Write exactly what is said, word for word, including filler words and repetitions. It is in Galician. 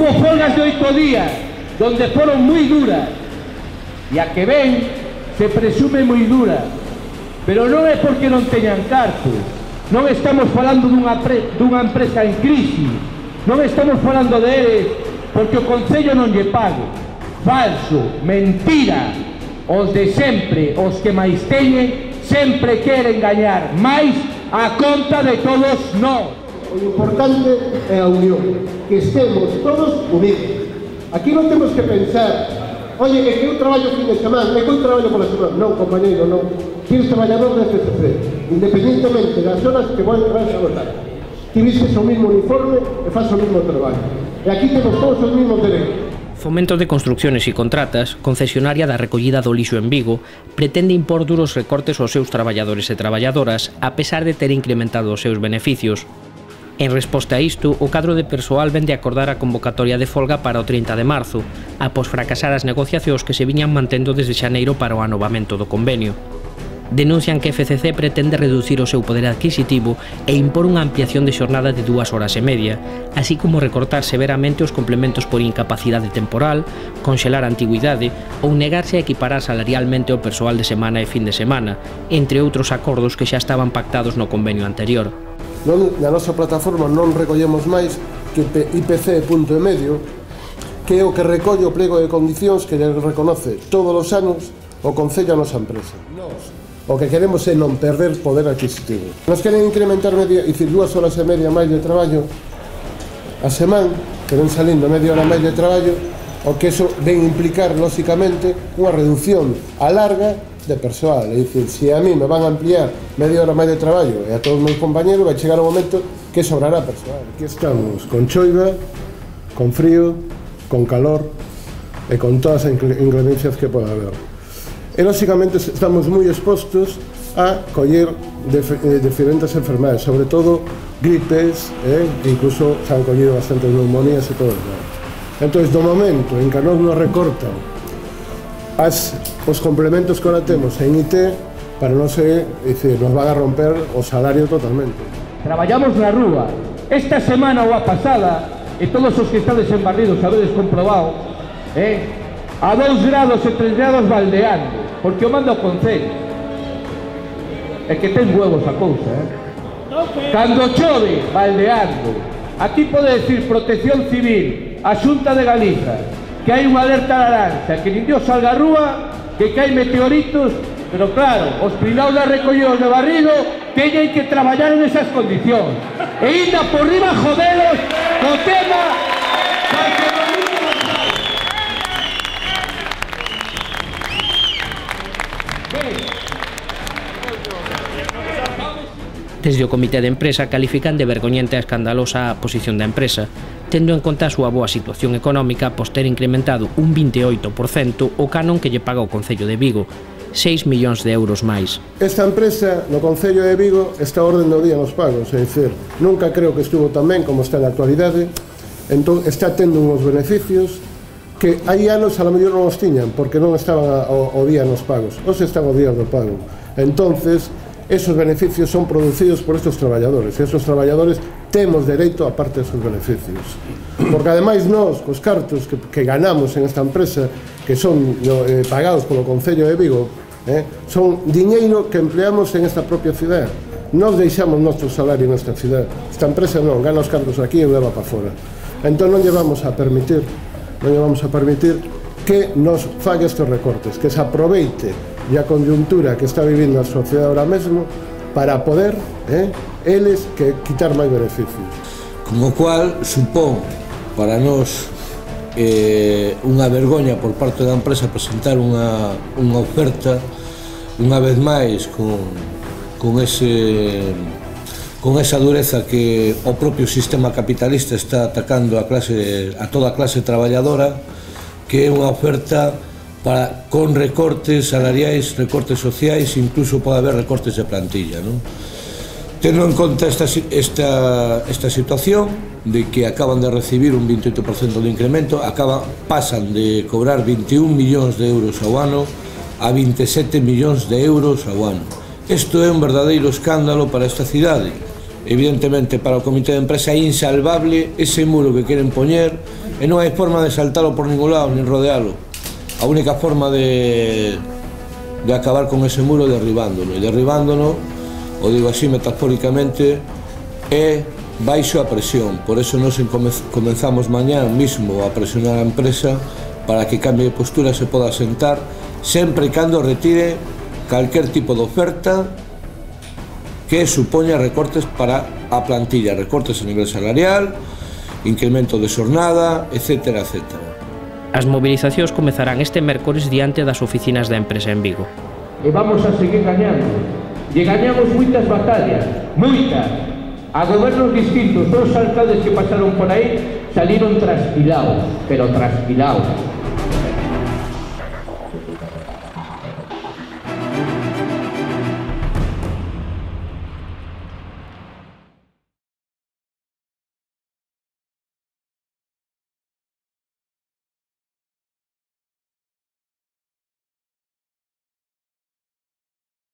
Hubo folgas de oito días, donde foron moi duras, e a que ven se presume moi dura, pero non é porque non teñan cartos, non estamos falando dunha, pre, dunha empresa en crise, non estamos falando de eles porque o Concello non lle pague. Falso, mentira, os de sempre, os que máis teñen, sempre queren gañar máis a conta de todos nós. O importante é a unión, que estemos todos unidos. Aquí non temos que pensar, oye, é que eu traballo fin de semana, é que eu traballo pola semana. Non, compañeiro, non. Tienes traballador de F C C, independentemente das horas que vais a votar. Ti vistes o mismo uniforme e faz o mismo traballo. E aquí temos todos os mismos derechos. Fomento de Construcciones e Contratas, concesionaria da recollida do lixo en Vigo, pretende impor duros recortes aos seus traballadores e traballadoras, a pesar de ter incrementado os seus beneficios. En resposta a isto, o cadro de persoal vende acordar a convocatoria de folga para o trinta de marzo, após fracasar as negociacións que se viñan mantendo desde xaneiro para o anovamento do convenio. Denuncian que F C C pretende reducir o seu poder adquisitivo e impor unha ampliación de xornada de dúas horas e media, así como recortar severamente os complementos por incapacidade temporal, conxelar a antigüidade ou negarse a equiparar salarialmente o persoal de semana e fin de semana, entre outros acordos que xa estaban pactados no convenio anterior. Non, na nosa plataforma non recollemos máis que I P C punto e medio, que é o que recolle o pliego de condicións que lle reconoce todos os anos o Concello a nosa empresa. Nos, o que queremos é non perder poder adquisitivo. Nos queren incrementar media, dicir, dúas horas e media máis de traballo a semana, que ven salindo media hora máis de traballo, o que eso ven implicar, lóxicamente, unha reducción a larga de persoal. É dicir, se a mí me van a ampliar media hora máis de traballo e a todos os meus compañeros, vai chegar o momento que sobrará persoal. Aquí estamos con choiva, con frío, con calor e con todas as inclemencias que pode haber. E, lóxicamente, estamos moi expostos a coller diferentes enfermedades, sobre todo gripes, eh? incluso se han collido bastantes neumonías e todo eso. Entón, do momento en que nos nos recortan as, os complementos que ahora temos en I T, para non ser, dicir, nos van a romper o salario totalmente. Traballamos na rúa. Esta semana ou a pasada, e todos os que estades en Barridos sabedes comprobado, eh, a dous grados e tres grados baldeando, porque o manda o Concello. É que ten huevos a cousa, eh? Cando chove, baldeando. Aquí pode decir Protección Civil, a Xunta de Galiza, que hai unha alerta laranxa, que nin Dios salga a rúa, que caen meteoritos, pero claro, os privados de recolledos de Barrido teñen que traballar en esas condicións. E inda por riba jodelos co tema da que Desde o Comité de Empresa califican de vergoñente a escandalosa a posición da empresa, tendo en conta a súa boa situación económica após ter incrementado un vinte e oito por cento o canon que lle paga o Concello de Vigo, seis millóns de euros máis. Esta empresa no Concello de Vigo está a orden do día nos pagos, é dicir, nunca creo que estuvo tan ben como está na actualidade, entón está tendo uns beneficios que hai anos a lo mellor non os tiñan, porque non estaban ao, ao día nos pagos, os están ao día do pago. Entonces, esos beneficios son producidos por estos traballadores, e esos traballadores temos dereito a parte desos beneficios. Porque ademais nós, cos cartos que, que ganamos en esta empresa, que son eh, pagados polo Concello de Vigo, eh, son diñeiro que empleamos en esta propia cidade. Nos deixamos noso salario nesta cidade. Esta empresa non, gana os cartos aquí e leva para fora. Entón non lle vamos a permitir, non lle vamos a permitir que nos fague estes recortes, que se aproveite e a conjuntura que está vivindo a sociedade ahora mesmo para poder, eh, eles, que quitar máis beneficios. Con o cual, supón para nós eh, unha vergoña por parte da empresa presentar unha, unha oferta unha vez máis con, con ese con esa dureza que o propio sistema capitalista está atacando a, clase, a toda a clase traballadora, que é unha oferta para, con recortes salariais, recortes sociais, incluso pode haber recortes de plantilla, non? Tendo en conta esta, esta, esta situación de que acaban de recibir un vinte e oito por cento de incremento, acaba, pasan de cobrar vinte e un millóns de euros ao ano a vinte e sete millóns de euros ao ano. Isto é un verdadeiro escándalo para esta cidade. Evidentemente, para o Comité de Empresa é insalvable ese muro que queren poñer e non hai forma de saltalo por ningún lado, nin rodealo. A única forma de, de acabar con ese muro é derribándolo, e derribándolo, o digo así metafóricamente, é baixo a presión. Por eso nos comenzamos mañán mismo a presionar a empresa para que cambie de postura, se poda sentar, sempre e cando retire calquer tipo de oferta que supoña recortes para a plantilla, recortes a nivel salarial, incremento de xornada, etcétera, etcétera. As movilizacións comezarán este mércores diante das oficinas da empresa en Vigo. E vamos a seguir gañando. E gañamos moitas batallas, moitas. A gobernos distintos, todos os alcaldes que pasaron por aí saliron trasquilados, pero trasquilados.